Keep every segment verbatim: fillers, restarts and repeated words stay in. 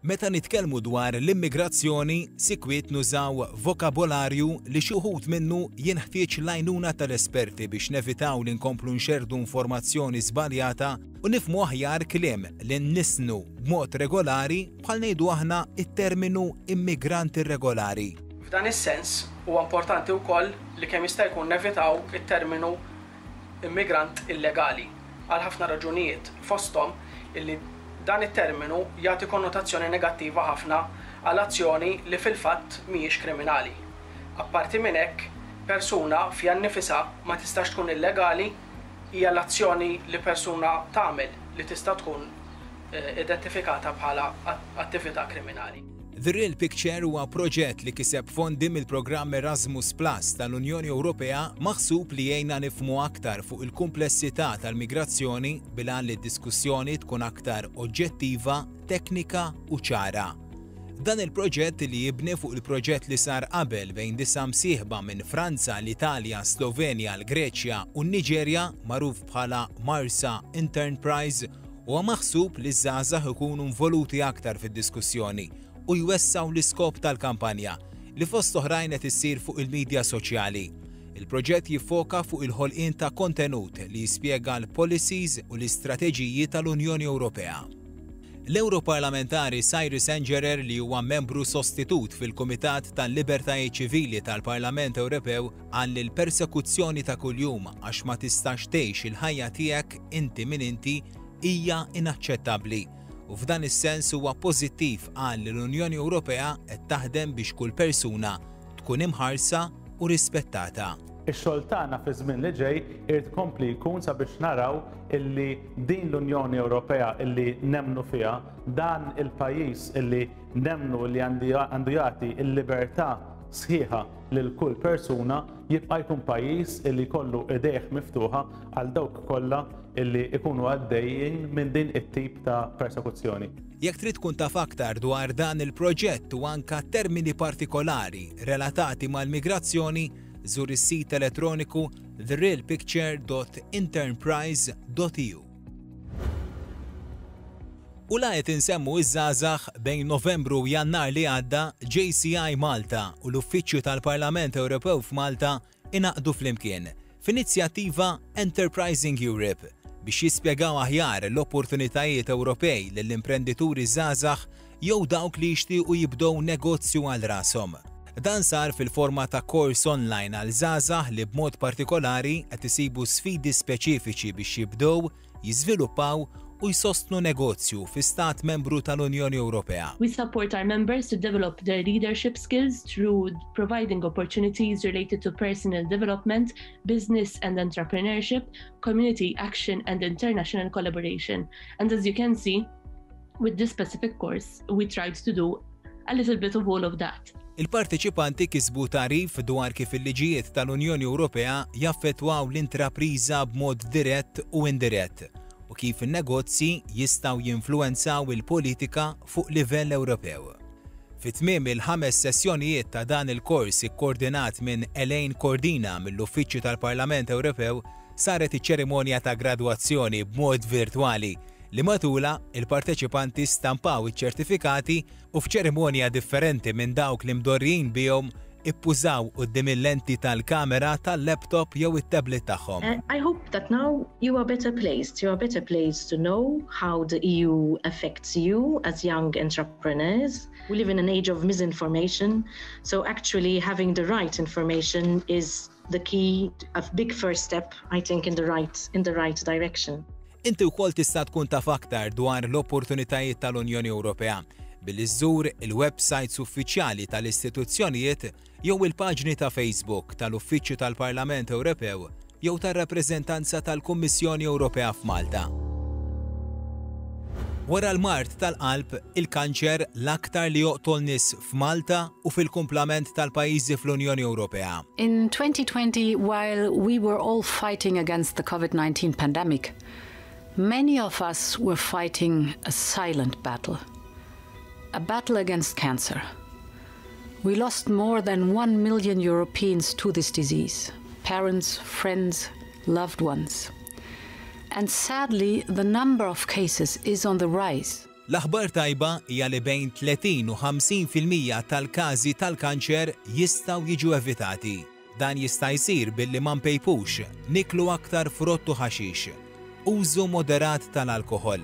Meta nitkellmu dwar l-immigrazzjoni, sikwit nużaw vokabolarju li xi wħud minnu jinħtieġ l-għajnuna tal-esperti biex nevitaw li nkomplu nxerdu informazzjoni żbaljata u nifhmu aħjar kliem li nlissnu b'mod regolari, bħal ngħidu aħna it-terminu immigrant irregolari. F'dan is-sens huwa importanti wkoll li kemm jista' jkun nevitaw it-terminu immigrant illegali għal ħafna raġunijiet, fosthom illi dan it-terminu jagħti konnotazzjoni negattiva ħafna għal azzjoni li fil-fatt mhijiex kriminali. Apparti minn hekk, persuna fiha nnifisha ma tistax tkun illegali, hija l-azzjoni li persuna tagħmel li tista' tkun eh, identifikata bħala attività kriminali. The Real Picture huwa proġett li kiseb fondi mill-programm Erasmus Plus tal-Unjoni Ewropea, maħsub li jgħinna nifhmu aktar fuq il-kumplessità tal-migrazzjoni bil-għan li d-diskussjoni tkun aktar oġġettiva, teknika u ċara. Dan il-proġett, li jibni fuq il-proġett li sar qabel bejn disa' msieħba minn Franza, l-Italja, Slovenja, l-Greċja u n-Niġerja, magħruf bħala Marsa Enterprise, huwa maħsub li żgħażagħ ikunu involuti aktar fid-diskussjoni u jwessgħu l-iskop tal-kampanja li fost oħrajn qed issir fuq il-medja soċjali. Il-proġett jiffoka fuq il-ħolqien ta' kontenut li jispjega l-policies u l-istrateġiji tal-Unjoni Ewropea. L-Europarlamentari Cyrus Engerer, li huwa membru sostitut fil-Kumitat tal-Libertajiet Ċivili tal-Parlament Ewropew, qal li l-persekuzzjoni ta' kuljum għax ma tistax tgħix il-ħajja tiegħek inti min inti hija inaċċettabbli u f'dan is-sens huwa pożittiv, qal, li l-Unjoni Ewropea qed taħdem biex kull persuna tkun imħarsa u rispettata. Ix-xogħol tagħna fi żmien li ġej irid ikompli jkun sabiex naraw illi din l-Unjoni Ewropea illi nemmnu fiha, dan il-pajjiż illi nemmnu li għandu jagħti il-libertà sħiħa lil kull persuna, jibqa' jkun pajjiż illi jkollu idejh miftuħa għal dawk kollha illi ikunu għaddejjin minn din it-tip ta' persekuzzjoni. Jekk trid tkun taf aktar dwar dan il-proġett u anka termini partikolari relatati mal-migrazzjoni, żur is-sit elettroniku therealpicture dot enterprise dot E U. U la qed insemmu iż-żgħażagħ, bejn Novembru u Jannar li għadda, J C I Malta u l-Uffiċċju tal-Parlament Ewropew f'Malta ingħaqdu flimkien f'inizjattiva Enterprising Europe biex jispjegaw aħjar l-opportunitajiet Ewropej lill-imprendituri żgħażagħ jew dawk li jixtiequ jibdew negozju għal rashom. Dan sar fil-forma ta' kors online għal żgħażagħ li b'mod partikolari qed isibu sfidi speċifiċi biex jibdew, jiżviluppaw u jsostnu negozju fi stat membru tal-Unjoni Ewropea. We support our members to develop their leadership skills through providing opportunities related to personal development, business and entrepreneurship, community action and international collaboration. And as you can see, with this specific course, we tried to do a little bit of all of that. Il-parteċipanti kisbu tagħrif dwar kif il-liġijiet tal-Unjoni Ewropea jaffettwaw l-intrapriża b'mod dirett u indirett u kif in-negozji jistgħu jinfluwenzaw il-politika fuq livell Ewropew. Fi tmiem il-ħames sessjonijiet ta' dan il-kors, ikkoordinat minn Elaine Cordina mill-Uffiċċju tal-Parlament Ewropew, saret iċ-ċerimonja ta' gradwazzjoni b'mod virtwali li matula il-parteċipanti stampaw iċ-ċertifikati u f'ċerimonja differenti minn dawk li mdorrijin bihom ippużaw quddiem il-lenti tal-kamera tal-laptop jew it-tablet tagħhom. Uh, I hope that now you are better placed. You are better placed to know how the E U affects you as young entrepreneurs. We live in an age of misinformation, so actually having the right information is the key, a big first step, I think, in the right in the right direction. Inti wkoll tista' tkun taf aktar dwar l-opportunitajiet tal-Unjoni Ewropea billi żżur il-websites uffiċjali tal-istituzzjonijiet jew il-paġni ta' Facebook tal-Uffiċċju tal-Parlament Ewropew jew tar-rappreżentanza tal-Kummissjoni Ewropea f'Malta. Wara l-mard tal-qalb, il-kanċer l-aktar li joqtol nies f'Malta u fil-kumplament tal-pajjiżi fl-Unjoni Ewropea. In twenty twenty, while we were all fighting against the COVID nineteen pandemic, many of us were fighting a silent battle, a battle against cancer. We lost more than one million Europeans to this disease: parents, friends, loved ones. And sadly, the number of cases is on the rise. L-aħbar tajba hija li bejn tletin u ħamsin fil-mija tal-każi tal-kanċer jistgħu jiġu evitati. Dan jista' jsir billi ma npejpux, niklu aktar frott u ħaxix, użu moderat tal-alkoħol,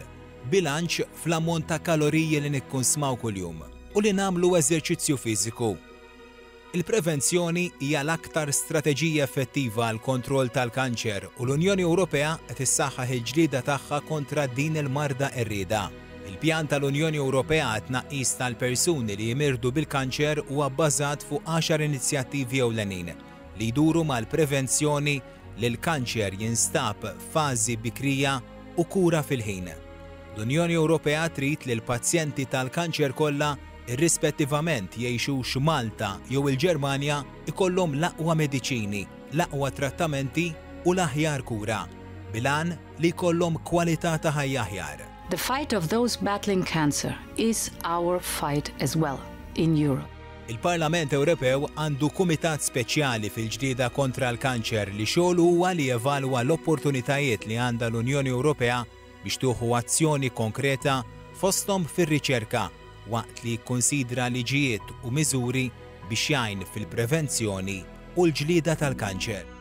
bilanċ fl-ammont ta' kaloriji li nikkunsmaw kuljum u li nagħmlu eżerċizzju fiżiku. Il-prevenzjoni hija l-aktar strateġija effettiva għal kontroll tal-kanċer u l-Unjoni Ewropea qed issaħħaħ il-ġlieda tagħha kontra din il-marda qerrieda. Il-pjan tal-Unjoni Ewropea għat-tnaqqis tal-persuni li jimirdu bil-kanċer huwa bbażat fuq għaxar inizjattivi ewlenin li jduru mal-prevenzjoni, li l-kanċer jinstab f'fażi bikrija u kura fil-ħin. L-Unjoni Ewropea trid li l-pazjenti tal-kanċer kollha, irrispettivament jgħixux Malta jew il-Ġermanja, ikollhom l-aqwa mediċini, l-aqwa trattamenti u l-aħjar kura, bil-għan li jkollhom kwalità ta' ħajja aħjar. The fight of those battling cancer is our fight as well in Europe. Il-Parlament Ewropew għandu kumitat speċjali fil-ġlieda kontra l-kanċer li xogħlu huwa li jevalwa l-opportunitajiet li għandha l-Unjoni Ewropea biex tieħu azzjoni konkreta, fosthom fir-riċerka, waqt li jikkonsidra liġijiet u miżuri biex jgħin fil-prevenzjoni u l-ġlieda tal-kanċer.